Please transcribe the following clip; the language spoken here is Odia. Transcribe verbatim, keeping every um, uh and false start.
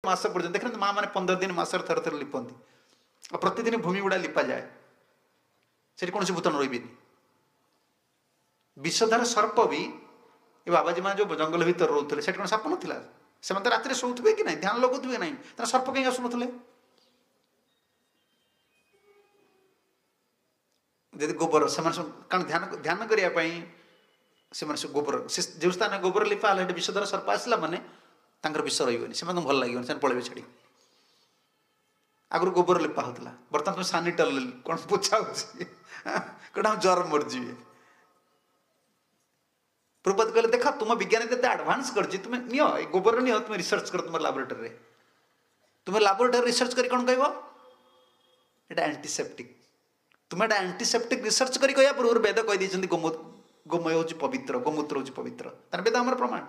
ମାସ ପର୍ଯ୍ୟନ୍ତ ଦେଖନ୍ତୁ, ମା ମାନେ ପନ୍ଦର ଦିନ ମାସରେ ଥରେ ଥରେ ଲିପନ୍ତି, ଆଉ ପ୍ରତିଦିନ ଭୂମି ଗୁଡ଼ା ଲିପାଯାଏ, ସେଠି କୌଣସି ଭୂତାଣୁ ରହିବେନି। ବିଷଧର ସର୍ପ ବି, ଏ ବାବାଜୀ ମାନେ ଯେଉଁ ଜଙ୍ଗଲ ଭିତରେ ରହୁଥିଲେ, ସେଠି କ'ଣ ସାପ ନଥିଲା? ସେମାନେ ତ ରାତିରେ ଶୋଉଥିବେ କି ନାହିଁ, ଧ୍ୟାନ ଲଗାଉଥିବେ ନାହିଁ, ତାହେଲେ ସର୍ପ କାହିଁକି ଆସୁନଥିଲେ? ଯଦି ଗୋବର ସେମାନେ ସବୁ, କାରଣ ଧ୍ୟାନ ଧ୍ୟାନ କରିବା ପାଇଁ ସେମାନେ ସବୁ ଗୋବର, ସେ ଯେଉଁ ସ୍ଥାନରେ ଗୋବର ଲିପା ହେଲା ସେଠି ବିଷଧର ସର୍ପ ଆସିଲା ମାନେ ତାଙ୍କର ବିଷ ରହିବନି, ସେମାନଙ୍କୁ ଭଲ ଲାଗିବନି, ସେମାନେ ପଳେଇବେ ଛାଡ଼ି। ଆଗରୁ ଗୋବର ଲିପା ହେଉଥିଲା, ବର୍ତ୍ତମାନ ତୁମେ ସାନିଟାଲ କ'ଣ ପୋଛା ହେଉଛି, କ'ଣ ଜର ମରିଯିବେ। ପ୍ରଭୁପାଦ କହିଲେ, ଦେଖ ତୁମ ବିଜ୍ଞାନ କେତେ ଆଡଭାନ୍ସ କରିଛି, ତୁମେ ନିଅ ଏ ଗୋବର ନିଅ, ତୁମେ ରିସର୍ଚ୍ଚ କର ତୁମ ଲାବୋରେଟୋରୀରେ। ତୁମେ ଲାବୋରେଟୋରୀ ରିସର୍ଚ୍ଚ କରି କ'ଣ କହିବ? ଏଇଟା ଆଣ୍ଟିସେପ୍ଟିକ୍। ତୁମେ ଏଇଟା ଆଣ୍ଟିସେପ୍ଟିକ୍ ରିସର୍ଚ୍ଚ କରି କହିବା ପୂର୍ବରୁ ବେଦ କହିଦେଇଛନ୍ତି ଗୋମୟ ହେଉଛି ପବିତ୍ର, ଗୋମୂତ୍ର ହେଉଛି ପବିତ୍ର। ତାର ବେଦ ଆମର ପ୍ରମାଣ।